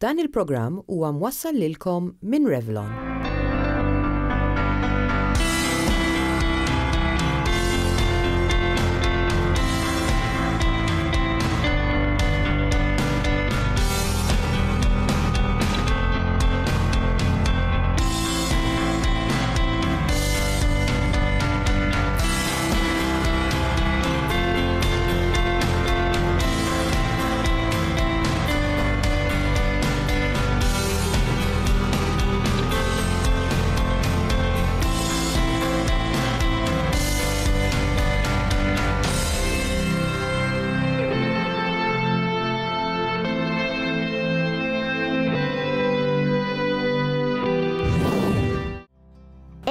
Dan il-programm huwa mwassal lilkom minn Revlon.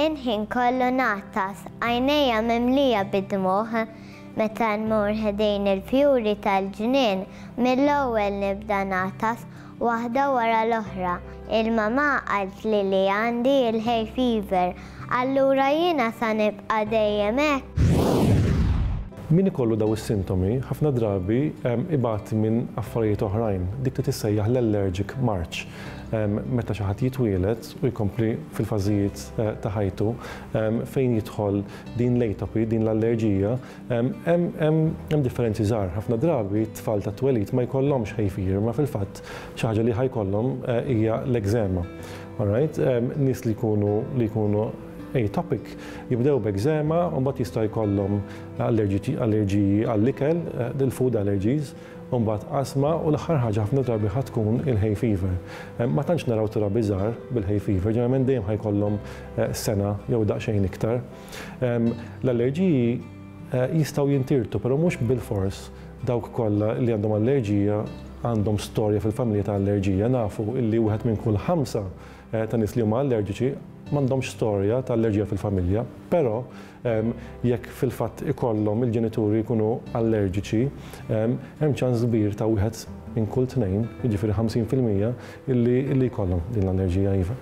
Il-ħin kollu nagħtas, għajnejja mimlija bid-dmugħ. Meta nmur ħdejn il-fjuri tal-ġnien, mill-ewwel nibda nagħtas, waħda wara l-oħra. Il-mamà qaltli li għandi l-hay fever, allura jiena sa nibqa' dejjem hekk? Min ikollu dawn is-sintomi ħafna drabi ibati minn affarijiet oħrajn, dik li tissejjaħ l-allergic march. Meta xi ħadd jitwieled u jkompli fil-fażijiet ta' ħajtu fejn jidħol din l-atopy, din l-allerġija, hemm differenzi żgħar. Ħafna drabi t-tfal tat-twelid ma jkollhomx hay fever, imma fil-fatt xi ħaġa li ħa jkollhom hija l-eczema. Alright? Nies li jkunu li jkunu atopic jibdew b'eczema u mbagħad jista' jkollhom allerġiji għall-ikel, il-food allergies, u mbagħad asma u l-aħħar ħaġa ħafna drabi ħa tkun il-hay fever. Ma tantx naraw trabi żgħar bil-hay fever, ġeneralment dejjem ħa jkollhom sena jew daqsxejn iktar. L-allerġiji jistgħu jintirtu, però mhux bilfors dawk kollha li għandhom allerġija għandhom storja fil-familja ta' allerġija. Nafu illi wieħed minn kull ħamsa ta' nies li huma allerġiċi m'għandhomx storja ta' allerġija fil-familja, però Jekk fil-fatt ikollhom il-ġenituri jkunu allerġiċi, hemm ċans kbir ta' wieħed minn kull tnejn, jiġifieri 50%, illi jkollhom din l-allerġija iva.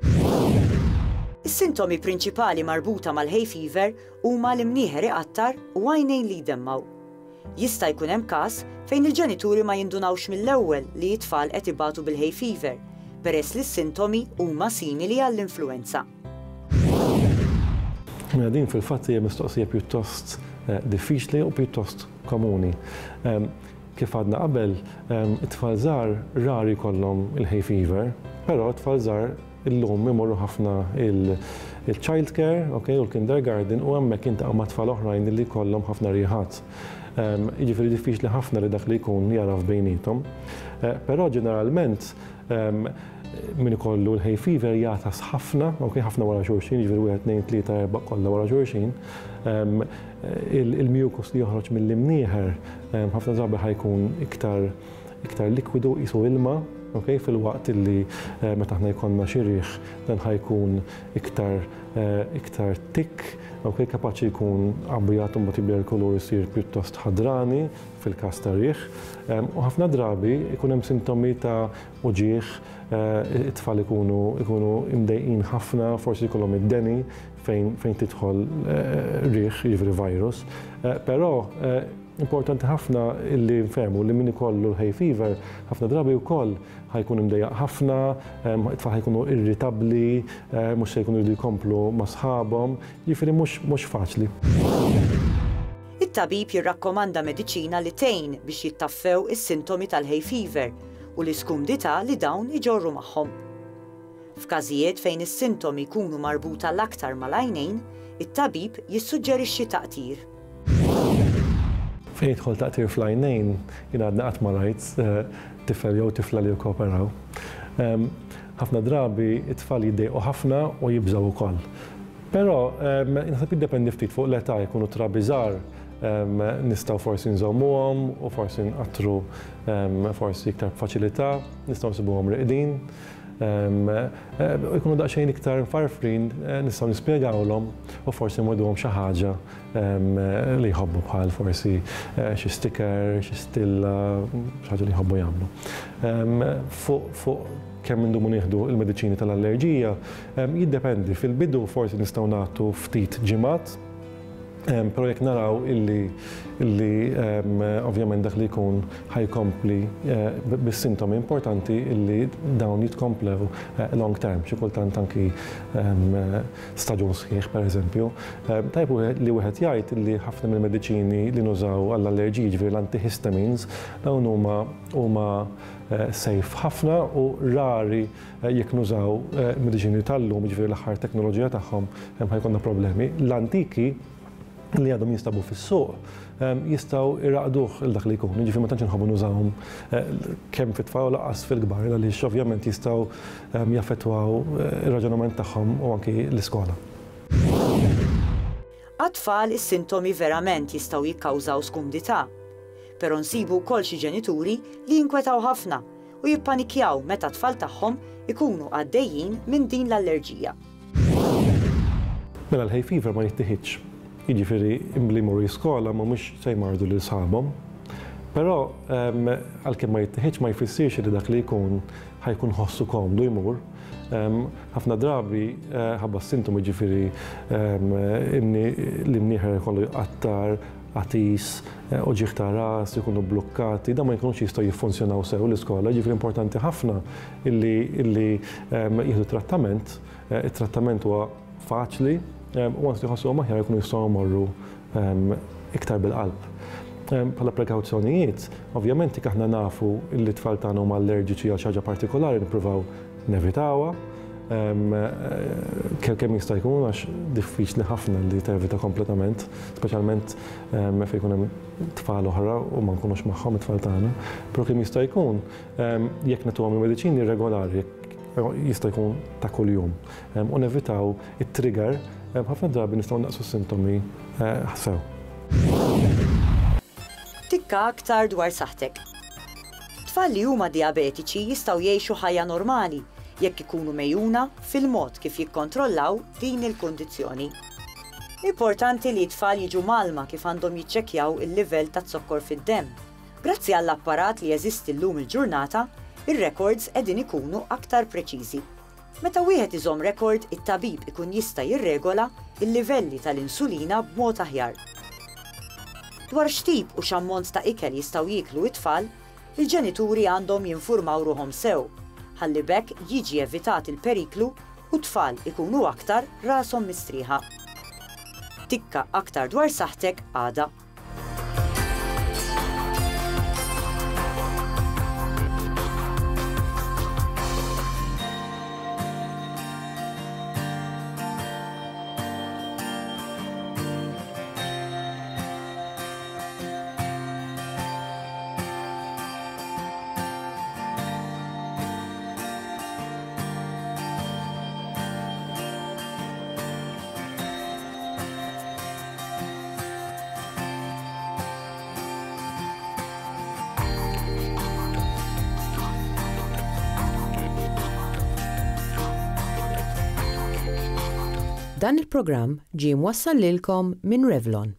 Is-sintomi prinċipali marbuta mal-hay fever huma l-imnieħer iqattar u għajnejn li jdemmgħu. Jista' jkun hemm każ fejn il-ġenituri ma jindunawx mill-ewwel li t-tfal qed ibatu bil-hay fever peress li s-sintomi huma simili għall-influwenza. Mela din fil-fatt hija mistoqsija pjuttost diffiċli u pjuttost komuni. Kif għadna qabel, it-tfal żgħar rari jkollhom il-hay fever, però t-tfal żgħar illum imorru ħafna il-child care, okay, u l-kindergarten u hemmhekk jintaqgħu ma' tfal oħrajn li jkollhom ħafna riħat. Jiġifieri diffiċli ħafna li dak li jkun jagħraf bejniethom. Però ġeneralment Min ikollu l-hay fever jagħtas ħafna, ok, ħafna wara xulxin, jiġifieri wieħed, tnejn, tlieta, erba' kollha wara xulxin. Il-mucus li joħroġ mill-imnieħer ħafna drabi ħa jkun iktar iktar likwidu qisu ilma, ok, filwaqt illi meta aħna jkollna xi riħ dan ħa jkun iktar iktar thick, ok, kapaċi jkun abjad u mbagħad jibdel il-kulur isir pjuttost ħadrani fil-każ ta' riħ. U ħafna drabi jkun hemm sintomi ta' uġigħ, it-tfal ikunu ikunu imdejqin ħafna, forsi jkollhom id-deni fejn fejn tidħol riħ, jiġifieri virus. Però importanti ħafna li nfehmu li min ikollu l-hay fever ħafna drabi wkoll ħa jkun imdejjaq ħafna, it-tfal ħa jkunu irritabbli, mhux se jkunu jridu jkomplu ma' sħabhom, jiġifieri mhux mhux faċli. It-tabib jirrakkomanda mediċina li tgħin biex jittaffew is-sintomi tal-hay fever u l-iskumdità li dawn iġorru magħhom. F'każijiet fejn is-sintomi jkunu marbuta l-aktar mal-għajnejn, it-tabib jissuġġerixxi taqtir. Fejn jidħol taqtir fl-għajnejn, jien għadni qatt ma rajt tifel jew tifla li jikkooperaw. Ħafna drabi t-tfal jiddejqu ħafna u jibżgħu wkoll. Però naħseb jiddependi ftit fuq l-età, jkunu trabi żgħar nistgħu forsi nżommuhom u forsi nqattru forsi iktar b'faċilità, nistgħu nsibuhom reqdin. Jkunu daqsxejn iktar mfarfrin nistgħu nispjegawlhom u forsi nweduhom xi ħaġa li jħobbu bħal forsi xi sticker, xi stilla, xi ħaġa li jħobbu jagħmlu. Fuq kemm indumu nieħdu l-mediċini tal-allerġija, jiddependi. Fil-bidu forsi nistgħu nagħtu ftit ġimgħat. Però jekk naraw illi illi ovvjament dak li jkun ħa jkompli bis-sintomi importanti illi dawn jitkomplew long term, xi kultant anki staġun sħiħ pereżempju. Tajjeb li wieħed jgħid illi ħafna mill-mediċini li nużaw għall-allerġiji, jiġifieri l-antihistamines, dawn huma huma safe ħafna u rari jekk nużaw mediċini tal-lum, jiġifieri l-aħħar teknoloġija tagħhom, ħa jkollna problemi. L-antiki li għadhom jinstabu fis-suq jistgħu jraqduh lil dak li jkun, jiġifieri ma tantx inħobbu nużawhom kemm fit-tfal u lanqas fil-kbar għaliex ovvjament jistgħu jaffettwaw ir-raġunament tagħhom u anki l-iskola. Għat-tfal is-sintomi verament jistgħu jikkawżaw skumdità. Però nsibu wkoll xi ġenituri li jinkwetaw ħafna u jippanikjaw meta t-tfal tagħhom ikunu għaddejjin minn din l-allerġija. Mela l-hay fever ma jittiħidx. Jiġifieri li jmorru jiskola mhumiex se jmarrdu lil sħabhom. Però għalkemm ma jittiħidx ma jfissirx li dak li jkun ħa jkun ħossu komdu jmur. Ħafna drabi ħabba s-sintomi jiġifieri l-imnieħer ikollu jqattar, għatis, uġigħ ta' ras, ikunu bblukkati, dawn ma jkunux jistgħu jiffunzjonaw sew l-iskola, jiġifieri importanti ħafna illi illi jieħdu trattament, it-trattament huwa faċli u once li jħossuhom aħjar ikunu jistgħu jmorru iktar bil-qalb. Bħala prekawzjonijiet, ovvjament jekk aħna nafu li t-tfal tagħna huma allerġiċi għal xi ħaġa partikolari nippruvaw nevitawha kemm jista' jkun għax diffiċli ħafna li tevita kompletament, speċjalment fejn ikun hemm tfal oħra u ma nkunux magħhom it-tfal tagħna. Però kemm jista' jkun jekk nagħtuhom il-mediċini regolari, jista' jkun ta' kuljum, u nevitaw it-trigger, ħafna drabi nistgħu naqsu s-sintomi sew. Tikka aktar dwar saħħtek. Tfal li huma dijabetiċi jistgħu jgħixu ħajja normali jekk ikunu megħjuna fil-mod kif jikkontrollaw din il-kundizzjoni. Importanti li t-tfal jiġu mgħallma kif għandhom jiċċekkjaw il-livell taz-zokkor fid-demm. Grazzi għall-apparat li jeżisti llum il-ġurnata, ir-rekords qegħdin ikunu aktar preċiżi. Meta wieħed iżomm rekord, it-tabib ikun jista' jirregola l-livelli tal-insulina b'mod aħjar. Dwar x'tip u x'ammont ta' ikel jistgħu jieklu t-tfal, il-ġenituri għandhom jinfurmaw ruħhom sew, ħalli b'hekk jiġi evitat il-periklu u t-tfal ikunu aktar rashom mistrieħa. Tikka aktar dwar saħħtek għada. Dan il-programm ġie mwassal lilkom minn Revlon.